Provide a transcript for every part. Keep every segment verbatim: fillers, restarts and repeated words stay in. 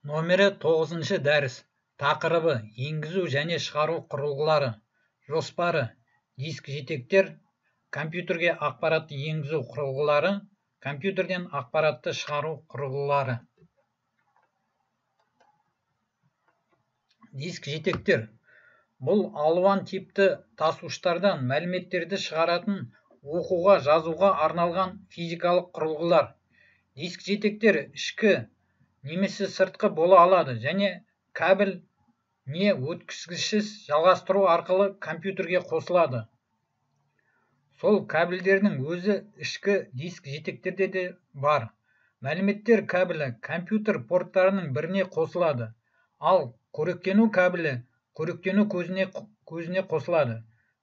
Номері тоғызыншы дәріс. Тақырыбы: енгізу және шығару құрылғылары. Жоспары: диск жетектер, компьютерге ақпаратты енгізу құрылғылары, компьютерден ақпаратты шығару құрылғылары. Диск жетектер. Бұл алуан типті тасуыштардан мәліметтерді шығаратын, оқуға, жазуға арналған физикалық құрылғылар. Диск жетектер ішкі немесе сыртқы бола алады және кабель не өткізгішсіз жалғастыру арқылы компьютерге қосылады. Сол кабельдердің өзі ішкі диск жетектерде де бар. Мәліметтер кабелі компьютер порттарының біріне қосылады, ал қоректену кабелі қоректену көзіне, көзіне қосылады.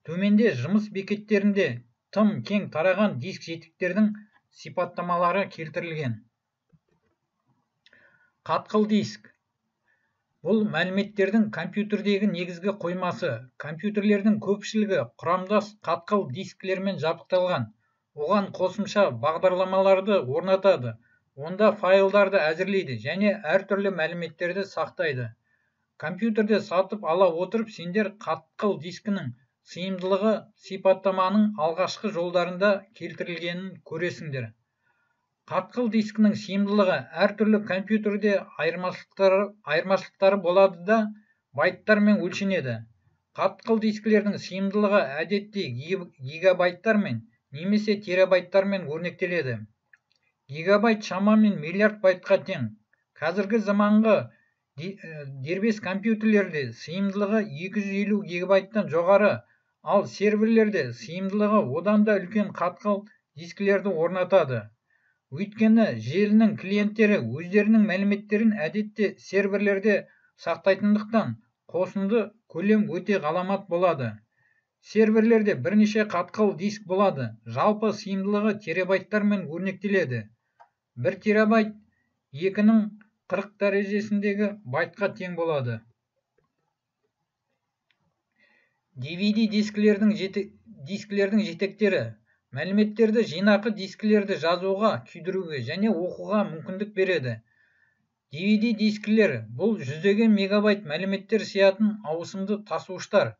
Төменде жұмыс бекеттерінде тым кең тараған диск жетектердің сипаттамалары келтірілген. Қатқыл диск. Бұл мәліметтердің компьютердегі негізгі қоймасы. Компьютерлердің көпшілігі құрамдас қатқыл дискілермен жабдықталған. Оған қосымша бағдарламаларды орнатады. Онда файлдарды әзірлейді және әртүрлі мәліметтерді сақтайды. Компьютерде сатып ала отырып, сендер қатқыл дискінің сыйымдылығы сипаттаманың алғашқы жолдарында келтірілгенін көресіңдер. Қатқыл дискінің сыйымдылығы әртүрлі компьютерде айырмашылықтары, айырмашылықтары болады да байттармен өлшенеді. Қатқыл дискілердің сыйымдылығы әдетте гигабайттармен немесе терабайттармен өрнектеледі. Гигабайт шамамен миллиард байтқа тең. Қазіргі заманғы дербес компьютерлерде сыйымдылығы екі жүз елу гигабайттан жоғары, ал серверлерде сыйымдылығы одан да үлкен қатқыл дискілерді орнатады. Өйткені желінің клиенттері өздерінің мәліметтерін әдетте серверлерде сақтайтындықтан қосынды көлем өте ғаламат болады. Серверлерде бірнеше қатқыл диск болады. Жалпы сыйымдылығы терабайттармен өрнектеледі. бір терабайт екінің қырық дәрежесіндегі байтқа тең болады. ди ви ди дискілердің, жете, дискілердің жетектері. Мәліметтерді жинақы дискілерді жазуға, күйдіруге және оқуға мүмкіндік береді. ди ви ди дискілер бұл жүздеген мегабайт мәліметтер сиятын ауысымды тасуыштар.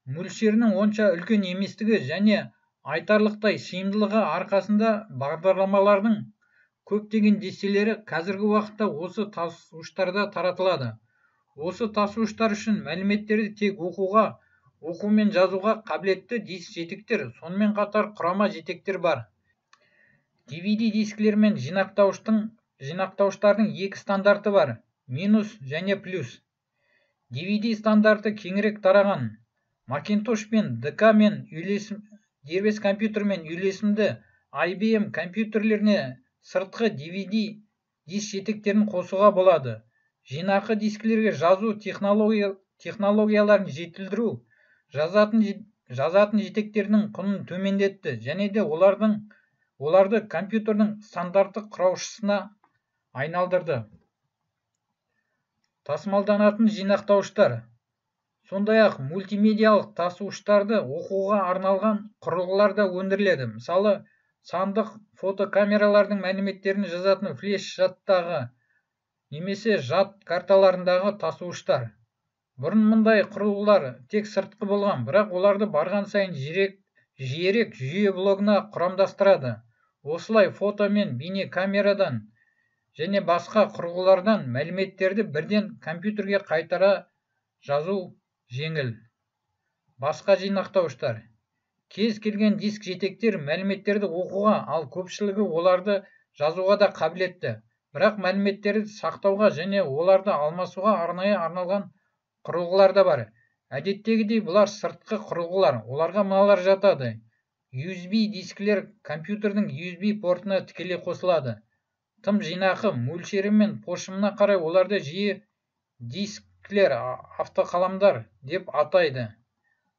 Мөлшерінің онша үлкен еместігі және айтарлықтай сыйымдылығы арқасында бағдарламалардың көптеген дестелері қазіргі уақытта осы тасуыштарда таратылады. Осы тасуыштар үшін мәліметтерді тек оқуға, оқу мен жазуға қабілетті диск жетектер, сонымен қатар құрама жетектер бар. ди ви ди дискілер мен жинақтауыштың, жинақтауыштардың екі стандарты бар, минус және плюс. ди ви ди стандарты кеңірек тараған. Macintosh пен ди ка мен үйлесім, дербес компьютер мен үйлесімді ай би эм компьютерлеріне сыртқы ди ви ди диск жетектерін қосуға болады. Жинақы дискілерге жазу технология, технологияларын жетілдіру жазатын, жазатын жетектердің құнын төмендетті және де олардың, оларды компьютердің стандартты құраушысына айналдырды. Тасымалданатын жинақтауыштар. Сондай-ақ мультимедиалық тасуыштарды оқуға арналған құрылғылар да өндіріледі. Мысалы, сандық фотокамералардың мәліметтерін жазатын флеш жадтағы немесе жад карталарындағы тасуыштар. Бұрын мұндай құрылғылар тек сыртқы болған, бірақ оларды барған сайын жиірек, жиірек жүйе блогына құрамдастырады. Осылай фото мен бейне камерадан және басқа құрылғылардан мәліметтерді бірден компьютерге қайтара жазу жеңіл. Басқа жинақтауыштар. Кез келген диск жетектер мәліметтерді оқуға, ал көпшілігі оларды жазуға да қабілетті. Бірақ мәліметтерді сақтауға және оларды алмасуға арнайы арналған құрылғылар да бар. Әдеттегідей бұлар сыртқы құрылғылар. Оларға мыналар жатады. ю эс би дискілер компьютердің ю эс би портына тікелей қосылады. Тым жинақы мөлшері мен пошымына қарай оларды жиі дисклер, автоқаламдар деп атайды.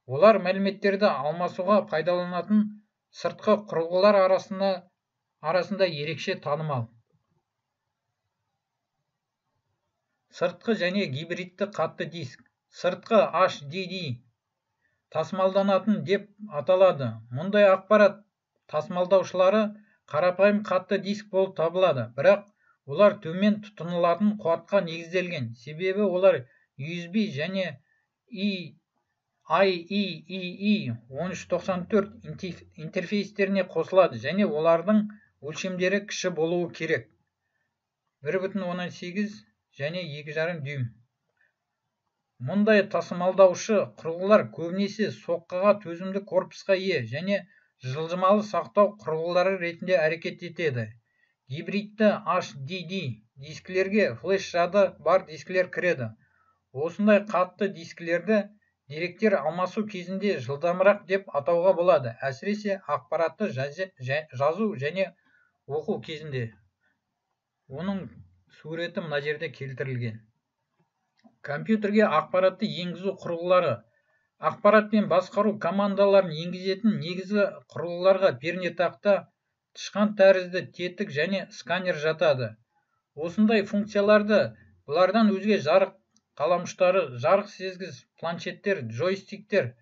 Олар мәліметтерді алмасуға пайдаланатын сыртқы құрылғылар арасында, арасында ерекше танымал. Сыртқы және гибридті қатты диск. Сыртқы эйч ди ди тасымалданатын деп аталады. Мұндай ақпарат тасымалдаушылары қарапайым қатты диск болып табылады, бірақ олар төмен тұтынылатын қуатқа негізделген, себебі олар ю эс би және ай и и и он үш тоқсан төрт интерфейстеріне қосылады және олардың өлшемдері кіші болуы керек, бір бүтін оннан сегіз және екі жарым дюйм. Мұндай тасымалдаушы құрылғылар көбінесе соққыға төзімді корпусқа ие және жылжымалы сақтау құрылғылары ретінде әрекет етеді. Гибридті эйч ди ди дискілерге флеш жады бар дискілер кіреді. Осындай қатты дискілерді деректер алмасу кезінде жылдамырақ деп атауға болады, әсіресе ақпаратты жазу және оқу кезінде. Оның суреті мына жерде келтірілген. Компьютерге ақпаратты енгізу құрылғылары. Ақпаратпен басқару командаларын енгізетін негізгі құрылғыларға пернетақта, тышқан тәрізді тетік және сканер жатады. Осындай функцияларды бұлардан өзге жарық қаламұштары, жарық сезгіш планшеттер, джойстиктер,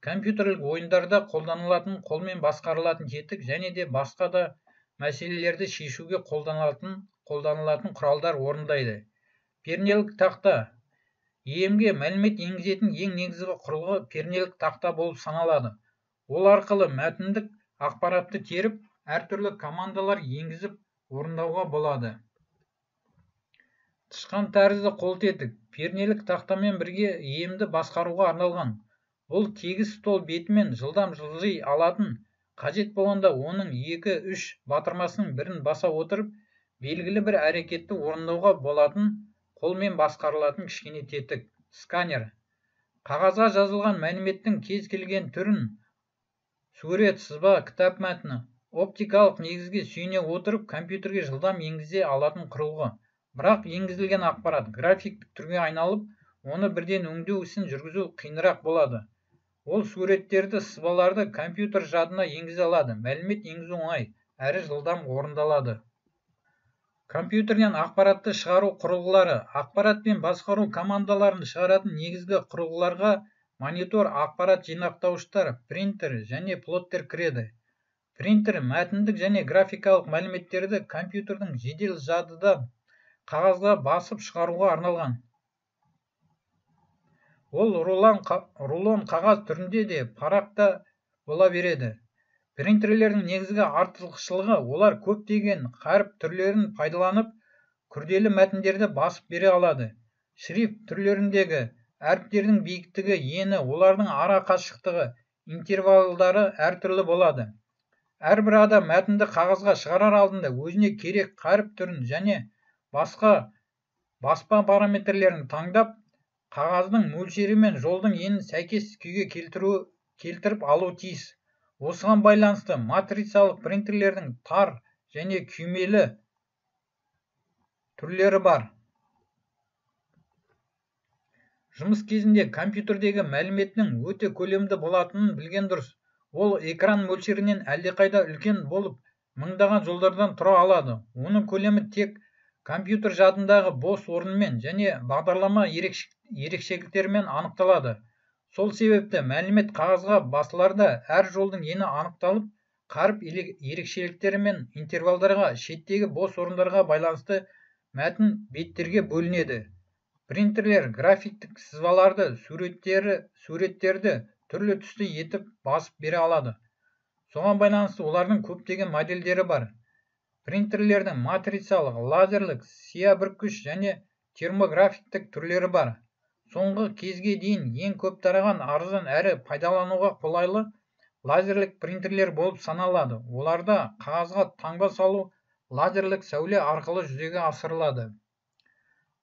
компьютерлік ойындарда қолданылатын қолмен басқарылатын тетік және де басқа да мәселелерді шешуге қолданылатын қолданылатын құралдар орындайды. Пернелік тақта. и эм-ге мәлімет енгізетін ең негізгі құрылғы пернелік тақта болып саналады. Ол арқылы мәтіндік ақпаратты теріп, әртүрлі командалар енгізіп орындауға болады. Тышқан тәрізді қолтетік. Пернелік тақтамен бірге и эм-ді басқаруға арналған. Бұл тегіс стол бетімен жылдам жылжи алатын, қажет болғанда оның екі-үш батырмасының бірін баса отырып, белгілі бір әрекетті орындауға болатын қолмен басқарылатын кішкене тетік. Сканер. Қағазға жазылған мәліметтің кез келген түрін, сурет, сызба, кітап мәтіні, оптикалық негізге сүйене отырып, компьютерге жылдам енгізе алатын құрылғы. Бірақ енгізілген ақпарат графиктік түрге айналып, оны бірден өңдеу ісін жүргізу қиынырақ болады. Ол суреттерді, сызбаларды компьютер жадына енгізе алады. Мәлімет енгізу оңай, әрі жылдам орындалады. Компьютерден ақпаратты шығару құрылғылары. Ақпаратпен басқару командаларын шығаратын негізгі құрылғыларға монитор, ақпарат жинақтауыштар, принтер және плоттер кіреді. Принтер мәтіндік және графикалық мәліметтерді компьютердің жедел жадыда қағазға басып шығаруға арналған. Ол рулон қағаз түрінде де парақта бола береді. Принтерлердің негізгі артықшылығы, олар көптеген қаріп түрлерін пайдаланып, күрделі мәтіндерді басып бере алады. Шрифт түрлеріндегі әріптердің биіктігі, ені, олардың ара қашықтығы, интервалдары әртүрлі болады. Әрбір адам мәтінді қағазға шығарар алдында өзіне керек қаріп түрін және басқа баспа параметрлерін таңдап, қағаздың мөлшері мен жолдың енін сәйкес күйге келтіріп алу тиіс. Осыған байланысты матрицалық принтерлердің тар және күймелі түрлері бар. Жұмыс кезінде компьютердегі мәліметтің өте көлемді болатынын білген дұрыс. Ол экран мөлшерінен әлдеқайда үлкен болып, мыңдаған жолдардан тұра алады. Оның көлемі тек компьютер жадындағы бос орынмен және бағдарлама ерекшеліктерімен анықталады. Сол себепті мәлімет қағазға басыларда әр жолдың ені анықталып, қаріп ерекшеліктері мен интервалдарға, шеттегі бос орындарға байланысты мәтін беттерге бөлінеді. Принтерлер графиктік сызбаларды, суреттерді түрлі түсті етіп басып бере алады. Соған байланысты олардың көптеген модельдері бар. Принтерлердің матрицалық, лазерлік, сия бүркіш және термографиктік түрлері бар. Соңғы кезге дейін ең көп тараған арзан әрі пайдалануға қолайлы лазерлік принтерлер болып саналады. Оларда қағазға таңба салу лазерлік сәуле арқылы жүзеге асырылады.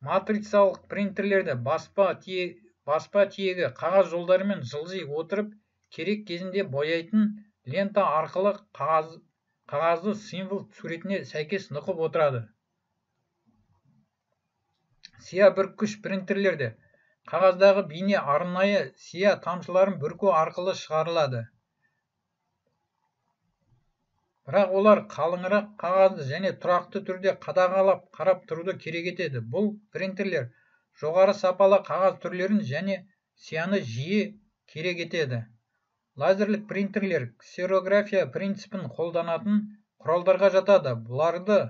Матрицалық принтерлерді баспа тиегі қағаз жолдарымен жылжи отырып, керек кезінде бояйтын лента арқылы қағазды символ суретіне сәйкес нұқып отырады. Сия бүркіш принтерлерді қағаздағы бейне арнайы сия тамшыларын бүрку арқылы шығарылады. Бірақ олар қалыңырақ қағазды және тұрақты түрде қадағалап қарап тұруды керек етеді. Бұл принтерлер жоғары сапалы қағаз түрлерін және сияны жиі керек етеді. Лазерлік принтерлер ксерография принципін қолданатын құралдарға жатады. Бұларды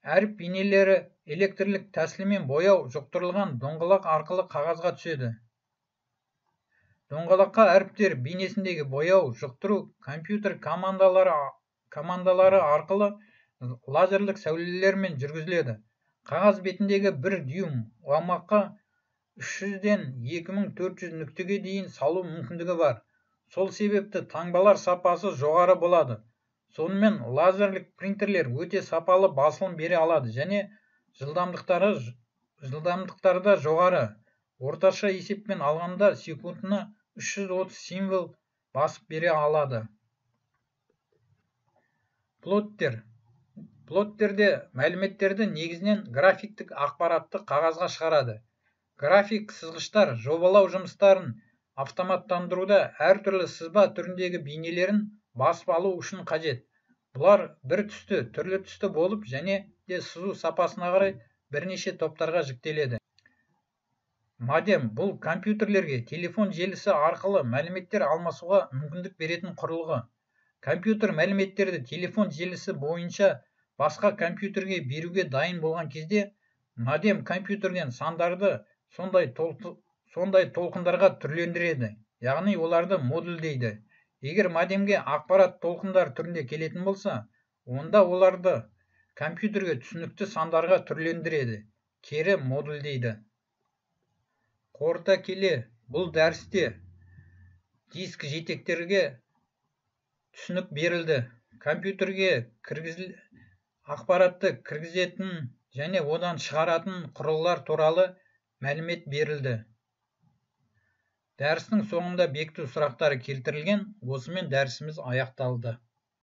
әріп бейнелері электрлік тәсілмен бояу жұқтырылған доңғалақ арқылы қағазға түседі. Доңғалаққа әріптер бейнесіндегі бояу жұқтыру компьютер командалары, командалары арқылы лазерлік сәулелермен жүргізіледі. Қағаз бетіндегі бір дюйм аумаққа үш жүзден екі мың төрт жүз нүктеге дейін салу мүмкіндігі бар. Сол себепті таңбалар сапасы жоғары болады. Сонымен лазерлік принтерлер өте сапалы басылым бере алады және жылдамдықтары жылдамдықтары да жоғары. Орташа есеппен алғанда секундына үш жүз отыз символ басып бере алады. Плоттер. Плоттерде мәліметтерді негізінен графиктік ақпаратты қағазға шығарады. График сызғыштар жобалау жұмыстарын автоматтандыруда әртүрлі сызба түріндегі бейнелерін басып алу үшін қажет. Бұлар бір түсті, түрлі түсті болып және де сызу сапасына қарай бірнеше топтарға жіктеледі. Модем бұл компьютерлерге телефон желісі арқылы мәліметтер алмасуға мүмкіндік беретін құрылғы. Компьютер мәліметтерді телефон желісі бойынша басқа компьютерге беруге дайын болған кезде, модем компьютерден сандарды сондай, толқы, сондай толқындарға түрлендіреді, яғни оларды модульдейді. Егер модемге ақпарат толқындар түрінде келетін болса, онда оларды компьютерге түсінікті сандарға түрлендіреді, кері модульдейді. Қорыта келе, бұл дәрісте диск жетектерге түсінік берілді. Компьютерге кіргізіл ақпаратты кіргізетін және одан шығаратын құрылғылар туралы мәлімет берілді. Дәрістің соңында бекіту сұрақтары келтірілген, осымен дәрісіміз аяқталды.